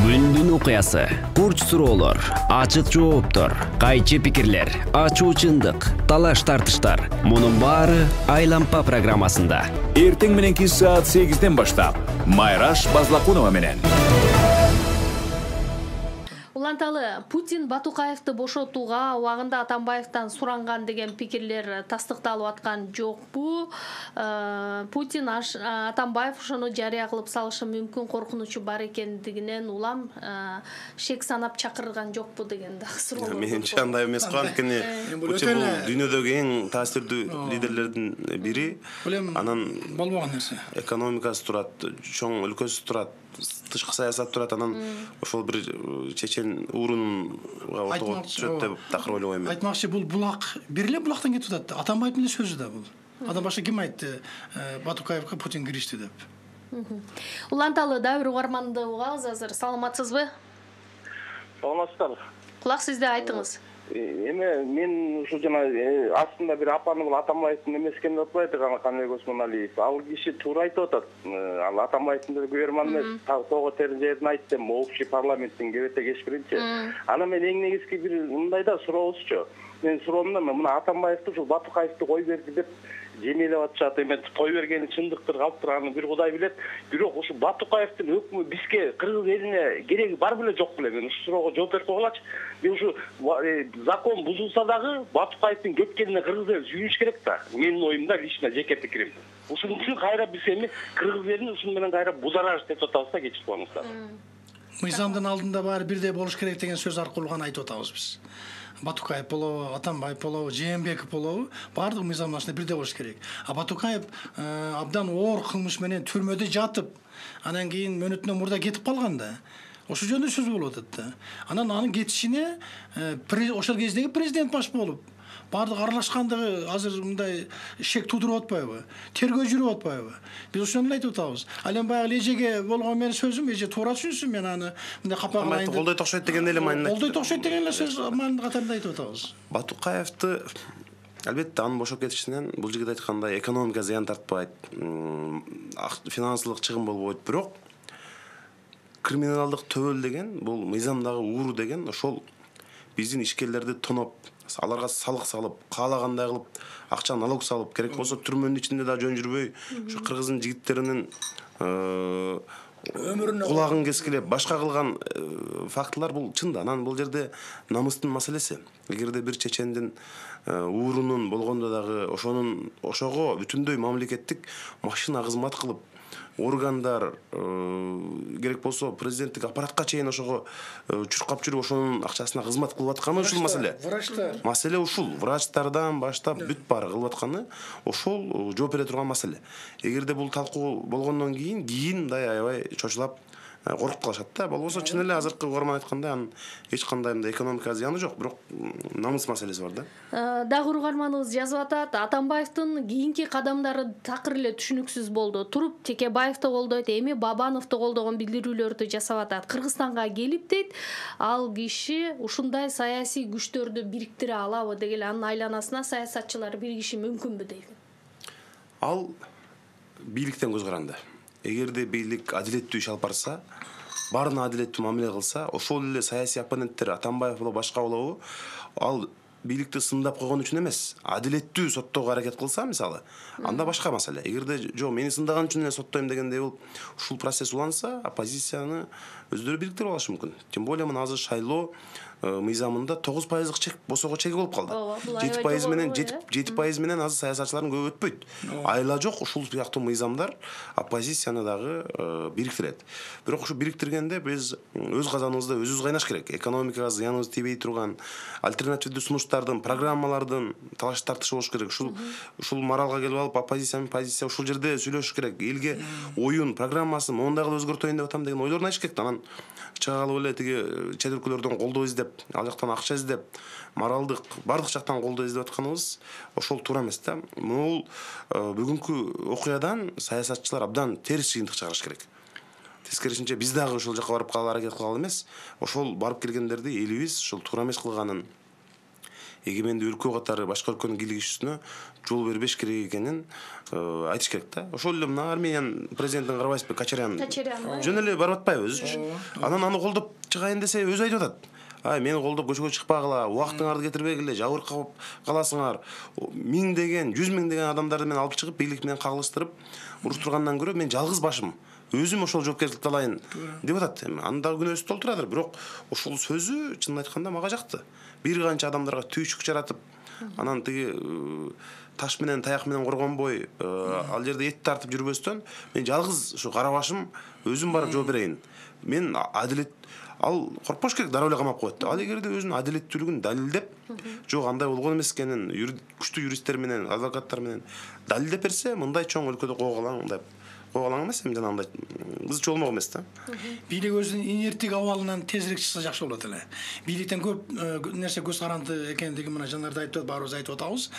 Күндүн окуясы, бурч суроолор, ачык жооптор, кайчы пикирлер, ачуу чындык, талаш тартыштар. Мунун баары Айлампа программасында. Эртең мененки саат 8ден баштап Майраш Базлакунова менен. Уланталы Путин Батукаевди бошотууга убагында Атамбаевден суранган деген пикирлер тастыкталып аткан жокпу? Путин Атамбаев ошону жарыя кылып салышы мүмкүн коркунучу бар экендигинен улам шек санап чакырган жокпу деген да суроо. Менимче андай эмес го, анткени Путин бул дүйнөдөгү эң таасирдүү лидерлердин бири. Анан болбогон нерсе. Экономикасы турат, чоң өлкөсү турат, тышкы саясат турат, анан ошол бир чечен уурунга ортого түшөт деп такыр ойлобойм мен. Айтмакчы, бул булак бир эле булактан кетип атат. Атамбаевдин эле сөзү да бул. Андан башка ким айтты Батукаевга Путин киришти деп. Уланталы дагы бир угарманды угабыз азыр. Саламатсызбы? Саламатсыздар. Кулак сизде, айтыңыз. Мен ушу жана астында бир апаны бул Атамбаевдин эмес экенин атпайт, Каныбек Осмоналиев. Ал киши туура айтып атат. Ал Атамбаевдин көрөрман эмес, тоо терин жерден айтты, общий парламенттин кебете кечкиринчи. Анан мен эң негизги бир мындай да сурообузчу. Мен суроомда мына Атамбаевди ушул Батукаевди кой берди деп жемелеп атышат. Эми той бергени чындыктыр, калыптыр, аны бир Кудай билет. Бирок ушу Батукаевдин өкмү бизге, кыргыз элине кереги бар беле жок беле? Мен ушул суроого жооп берип койгулачы. Мен ушу закон бузулса дагы Батукаевдин кеткенине кыргыз эл сүйүнүш керек да. Менин оюмда, лично жеке пикирим. Ушун үчүн кайра биз эми кыргыз элин ушун менен кайра бузараж деп атабыз да, кечип коюңуздар. Мыйзамдын алдында баары бирдей болуш керек деген сөз аркылуу гана айтып атабыз биз. Батукаев болобу, Атамбаев болобу, Жээнбеков болобу, баардыгы мыйзамдын астында бирдей болуш керек. Батукаев абдан оор кылмыш менен түрмөдө жатып, анан кийин мөөнөтүнөн мурда кетип калган да. Ошол жөнүндө сөз болуп атат да. Анан анын кетишине ошол кездеги президент баш болуп, баардык аралашкандыгы азыр мындай шек туудуруп атпайбы? Тергөө жүрүп атпайбы? Биз ошону айтып атабыз. Ал эми баягы эжеге болгон менин сөзүм, эже туура түшүнсүн, мен аны мындай капа кылайын деп. Колдой окшойт деген эле маанинде. Колдой окшойт деген эле сөз маанинде катарында айтып атабыз. Батукаевди албетте анын бошоп кетишинен бул жигит айткандай экономика зыян тартпайт, финансылык чыгым болбойт, бирок криминалдык төбөл деген, бул мыйзамдагы ууру деген ошол биздин ишкерлерди тоноп, аларга салык салып, каалагандай кылып, акча налог салып, керек болсо түрмөнүн ичинде да жөн жүрбөй, ушу кыргыздын жигиттеринин өмүрүнө кулагын кескилеп, башка кылган фактылар бул чын да. Анан бул жерде намыстын маселеси. Эгерде бир чечендин уурунун болгондо дагы ошого бүтүндөй мамлекеттик машина кызмат кылып, органдар керек болсо президенттик аппаратка чейин ошого чуркап жүрүп, ошонун акчасына кызмат кылып атканы ушул маселе. Маселе ушул. Врачтардан баштап бүт баары кылып атканы ошол жооп бере турган маселе. Эгерде бул талкуу болгондон кийин мындай аябай чочулап коркуп калышат да. Болбосо чын эле азыркы угарман айткандай, анын эч кандай мындай экономика зыяны жок, бирок намыс маселеси бар да. Дагы угарманыбыз жазып атат, Атамбаевдин кийинки кадамдары такыр эле түшүнүксүз болду. Туруп Текебаевди колдойт, эми Бабановду колдогон билдирүүлөрдү жасап атат. Кыргызстанга келип дейт, ал киши ушундай саясий күчтөрдү бириктире алабы деген, анын айланасына саясатчылар биригиши мүмкүнбү дейт. Ал бийликтен көз каранды. Эгерде бийлик адилеттүү иш алып барса, баарына адилеттүү мамиле кылса, ошол эле саясий оппоненттер Атамбаев болобу, башка болобу, ал бийликти сындап койгон үчүн эмес, адилеттүү соттоого аракет кылса, мисалы, анда башка маселе. Эгерде жок, мени сындаган үчүн эле соттойм дегендей болуп, ушул процесс уланса, оппозицияны өздөрү бириктирип алышы мүмкүн. Тем более мына азыр шайлоо мыйзамында 9% чек, босого чеги болуп калды. 7% менен азыр саясатчылардын көбү өтпөйт. Айла жок, ушул сыяктуу мыйзамдар оппозицияны дагы бириктирет. Бирок ушу бириктиргенде биз өз казаныбызда өзүбүз кайнаш керек. Экономикага зыяныбыз тийбей турган альтернативдүү сунуштардын, программалардын талаш тартышы болуш керек. Ушул моралга келип алып, оппозиция менен позиция ушул жерде сүйлөшүш керек. Элге оюн, программасын моундай кылып өзгөртөйүн деп атам деген ойлорун айтыш керек. Анан чыга калып эле тиги чет өлкөлөрдөн колдоо издеп, ал жактан акча издеп, моралдык бардык жактан колдоо издеп атканыбыз ошол туура эмес да. Бул бүгүнкү окуядан саясатчылар абдан терс жыйынтык чыгарыш керек. Тескерисинче биз дагы ошол жака барып калган аракет кылгалы эмес, ошол барып келгендерди элибиз ошол туура эмес кылганын, эгемендүү өлкө катары башка өлкөнүн кийлигишүүсүнө жол бербеш керек экенин айтыш керек да. Ошол эле мына Армениянын президентин Карабайсызбек Качарян жөн эле барып атпайбы өзүчү. Анан аны колдоп чыгайын десе өзү айтып атат. Мени колдоп көчөгө чыкпагыла, убактыңарды кетирбегиле, жабыркап каласыңар. 1000 100 000 адамдарды мен алып чыгып бийлик менен кагылыштырып уруштургандан көрө мен жалгыз башым өзүм ошол жоопкерчиликти алайын деп атат. Анын дагы күнөөсү толтурадыр, бирок ошол сөзү чынын айтканда мага жакты. Бир канча адамдарга түйшүк жаратып, анан тиги таш менен таяк менен коргонбой, ал жерде эт тартып жүрбөстөн, мен жалгыз ушу кара башым өзүм барып жооп берейин. Мен адилет ал коркпош керек, дароо эле камап коет. Ал эгерде өзүнүн адилеттүүлүгүн далилдеп, жок андай болгон эмес экенин күчтүү юристтер менен, адвокаттар менен далилдеп берсе, мындай чоң өлкөдө куугалаң деп куугалаң эмес, эми жана андай кызыча болмок эмес да. Бийлик өзүнүн инерттик абалынан тезирээк чыкса жакшы болот эле. Бийликтен көп нерсе көз каранды экендиги мына жанарда айтып баарыбыз айтып атабыз.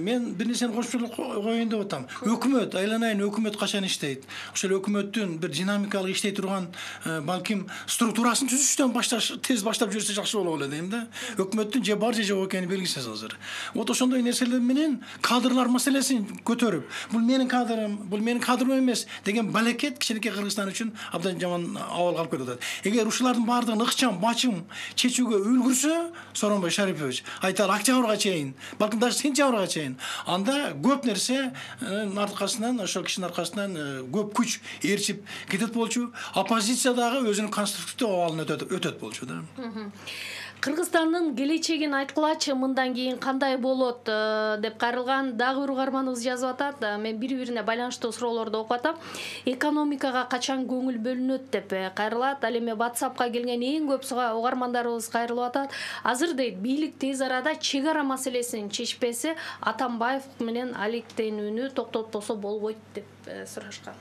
Мен бир нерсени кошумчалап коеюн деп атам. Өкмөт, айланайын өкмөт качан иштейт? Ошол өкмөттүн бир динамикалык иштей турган балким структурасын түзүштөн башташ, тез баштап жүрсө жакшы болот эле дейм да. Өкмөттүн же бар же жок экени белгисиз азыр. Вот ошондой нерселер менен кадрлар маселесин көтөрүп, бул менин кадрым эмес деген балекет кичинекей Кыргызстан үчүн абдан жаман абалга алып келип атат. Эгер ушулардын баардыгын ыкчам, бачым чечүүгө үлгүрсө, Сооронбай Шарипович, айталы октябрга чейин, балким даже сентябрга чейин, анда көп нерсенин аркасынан, ошол кишинин аркасынан көп күч ээрчип кетет болчу. Оппозиция дагы өзүнүн конструктивдүү абалын өтөт болчу да. Кыргызстандын келечегин айткылачы, мындан кийин кандай болот деп кайрылган дагы бир угарманыбыз жазып атат. Мен бири-бирине байланыштуу суроолорду окуп атам. Экономикага качан көңүл бөлүнөт деп кайрылат. Ал эми WhatsAppка келген эң көп угармандарыбыз кайрылып атат. Азыр дейт, бийлик тез арада чек ара маселесин чечпесе, Атамбаев менен алектенүүнү токтотпосо болбойт деп сурашкан.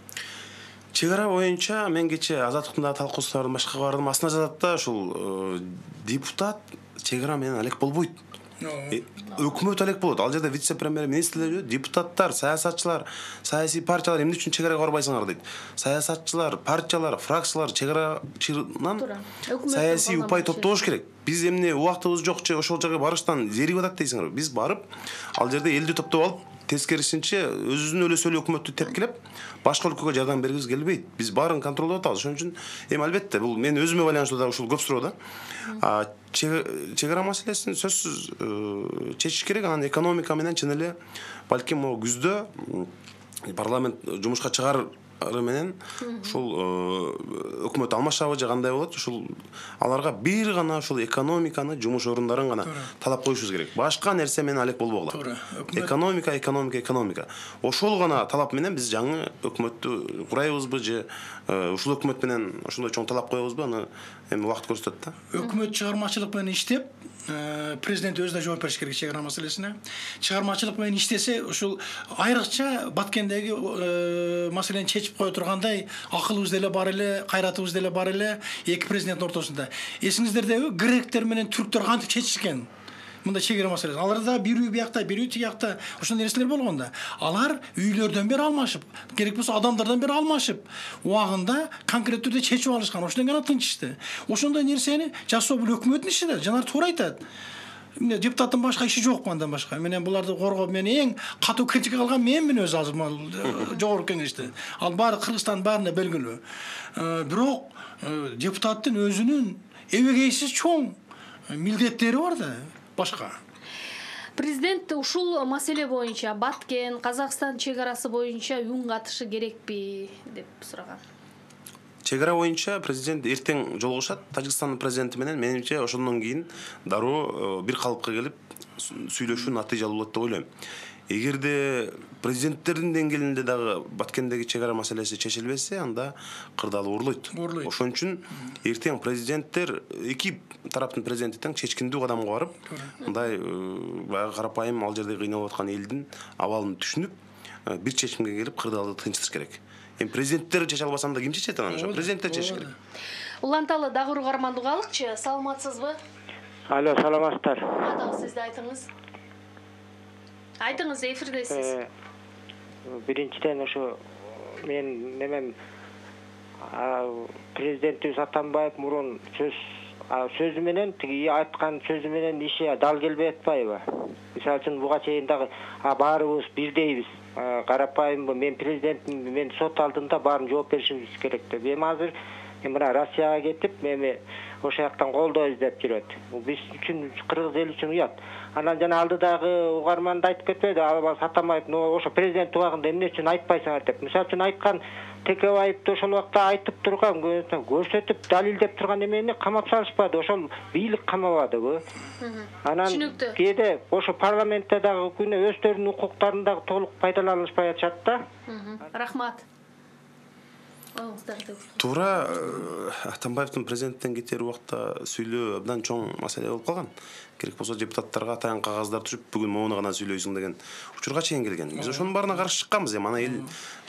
Чек ара боюнча мен кече Азаттыктын дагы талкуусуна башка бардым. Астына жазат да, ушул депутат чек ара менен алек болбойт. Өкмөт алек болот. Ал жерде вице-премьер министрлер, депутаттар, саясатчылар, саясий партиялар эмне үчүн чек арага барбайсыңар дейт. Саясатчылар, партиялар, фракциялар чек арачынан саясий упай топтош керек. Биз эмне убактыбыз жок же ошол жерге барыштан зеригип атат дейсиңер. Биз барып, ал жерде элди топтоп алып, тескерисинче өзүнүн эле сөйлөө өкмөттү тепкилеп, башка өлкөгө жардам бергибиз келбейт. Биз баарын контролдоп атабыз. Ошон үчүн эми албетте бул мен өзүмө байланыштуу да ушул көп суроо да. Чек ара маселесин сөзсүз чечиш керек. Анан экономика менен чын эле балким могу күздө парламент жумушка чыгары менен ушул өкмөт алмашабы же кандай болот, ушул аларга бир гана ушул экономиканы, жумуш орундарын гана талап коюшубуз керек. Башка нерсе менен алек болбогула. Экономика. Ошол гана талап менен биз жаңы өкмөттү курайбызбы же ушул өкмөт менен ошондой чоң талап коебузбу, аны эми убакыт көрсөтөт да. Өкмөт чыгармачылык менен иштеп, президент өзү да жооп бериш керек чек ара маселесине. Чыгармачылык менен иштесе, ушул айрыкча Баткендеги маселени чечип кое тургандай акылыбыз деле бар эле, кайратыбыз деле бар эле эки президенттин ортосунда. Эсиңиздердеби, гректер менен түрктөр кантип чечишкен? Мында чек ара маселеси. Алар да бир үй биякта, бир үй тиякта ошондой нерселер болгон да. Алар үйлөрдөн бери алмашып, керек болсо адамдардан бери алмашып, убагында конкреттүү түрдө чечип алышкан. Ошондон гана тынчышты. Ошондой нерсени жасоо бул өкмөттүн иши да. Жанар туура айтат. Депутаттын башка иши жок андан башка. Менен буларды коргоп, мен эң катуу критика кылган менмин өзү азыр жогорку кеңеште. Ал баары Кыргызстандын баарына белгилүү. Бирок депутаттын өзүнүн эбегейсиз чоң милдеттери бар да. Башка. Президент ушул маселе боюнча Баткен, Казакстан чек арасы боюнча үн катышы керекпи деп сураган. Чек ара боюнча президент эртең жолугушат Тажикстандын президенти менен. Менимче ошондон кийин дароо бир калыпка келип сүйлөшүү натыйжалуу болот деп ойлойм. Эгерде президенттердин деңгээлинде дагы Баткендеги чек ара маселеси чечилбесе, анда кырдаалуу урлойт. Ошон үчүн эртең президенттер эки тараптын президенти тең чечкиндүү кадамга барып, мындай баягы карапайым ал жерде кыйналып аткан элдин абалын түшүнүп, бир чечимге келип кырдаалды тынчтыш керек. Эми президенттер чече албаса анда ким чечет анан? Президенттер чечиш керек. Уланталы дагы бир угарманды алыкчы. Саламатсызбы? Алло, саламатсыздар. Дагы сизди айтыңыз. Айтыңыз, эфирдесиз. Биринчиден ошо мен немем президентибиз Атамбаев мурун сөз сөзү менен тиги айткан сөзү менен иши дал келбей атпайбы? Мисалы үчүн буга чейин дагы баарыбыз бирдейбиз. Карапайым мен президентмин, мен сот алдында баарын жооп беришибиз керек деп. Эми азыр мына Россияга кетип, эми ошол жактан колдоо издеп жүрөт. Бул биз үчүн, кыргыз эли үчүн уят. Анан жана алдыдагы угарманда айтып кетпеди, Албас Атамбаев ошо президент убагында эмне үчүн айтпайсыңар деп. Мисалы үчүн айткан Текебаевди ошол убакта айтып турган, көрсөтүп, далилдеп турган эмени камап салышпады, ошол бийлик камабадыбы? Анан кээде ошо парламентте дагы күнү өздөрүнүн укуктарын дагы толук пайдаланышпай атышат да. Рахмат. Туура, Атамбаевдин президенттен кетер убакта сүйлөө абдан чоң маселе болуп калган. Керек болсо депутаттарга атайын кагаздар түшүп, бүгүн моуну гана сүйлөйсүң деген учурга чейин келген. Биз ошонун баарына каршы чыкканбыз, эми аны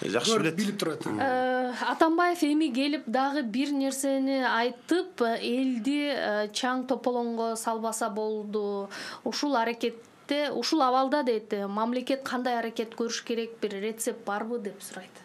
эл жакшы билет. Билип турат. Атамбаев эми келип дагы бир нерсени айтып, элди чаң тополоңго салбаса болду. Ушул аракетте, ушул абалда дейт, мамлекет кандай аракет көрүш керек, бир рецепт барбы деп сурайт.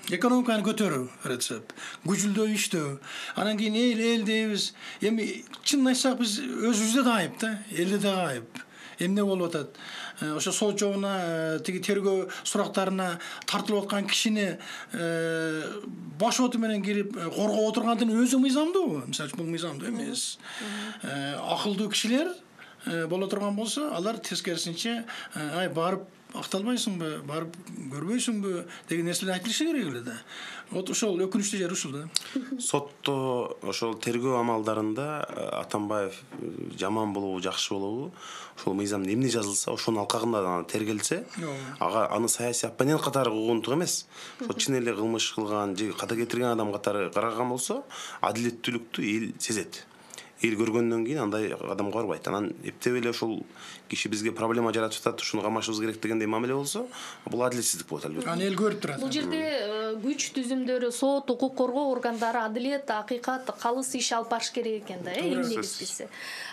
Экономиканы көтөрүү рецепт, күчүлдөө иштөө. Анан кийин эл дейбиз. Эми чынын айтсак биз өзүбүздө да айып да, элде да айып. Эмне болуп атат? Ошо сот жобуна тиги тергөө сурактарына тартылып аткан кишини баш оту менен кирип коргоп отургандын өзү мыйзамдуу. Мисалы үчүн бул мыйзамдуу эмес. Акылдуу кишилер боло турган болсо, алар тескерисинче барып акталбайсыңбы, барып көрбөйсүңбү деген нерселер айтылышы керек эле да. Вот ошол өкүнүчтүү жери ушул да. Сотто ошол тергөө амалдарында Атамбаев жаман болобу, жакшы болобу, ошол мыйзамда эмне жазылса, ошонун алкагында тергелсе, аны саясий оппонент катары угунтук эмес. Ошо чын эле кылмыш кылган же ката кетирген адам катары караган болсо, адилеттүүлүктү эл сезет. Эл көргөндөн кийин андай адамга барбайт. Анан эптеп эле ошол киши бизге проблема жаратып атат, ушуну камашыбыз керек дегендей мамиле болсо, бул адилетсиздик болот албетте. Аны эл көрүп турат. Бул жерде күч түзүмдөрү, сот, укук коргоо органдары адилет, акыйкат, калыс иш алып барыш керек экен да, эң негизгиси.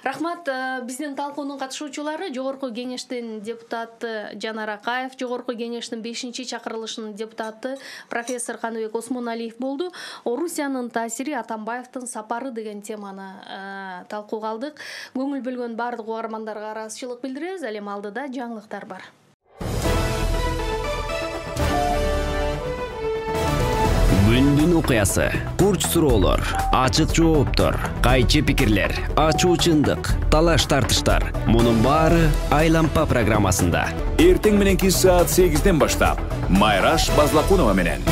Рахмат, биздин талкуунун катышуучулары Жогорку кеңештин депутаты Жанар Акаев, Жогорку кеңештин 5-чакырылышынын депутаты профессор Каныбек Осмоналиев болду. Орусиянын таасири, Атамбаевдин сапары деген теманы талкууга алдык. Көңүл бөлгөн бардык угармандарга ыраазычылык билдиребиз. Ал эми алдыда жаңылыктар бар. Күндүн окуясы, курч суроолор, ачык жооптор, кайчы пикирлер, ачуу чындык, талаш тартыштар. Мунун баары Айлампа программасында. Эртең мененки саат 8-ден баштап Майраш Базлакунова менен.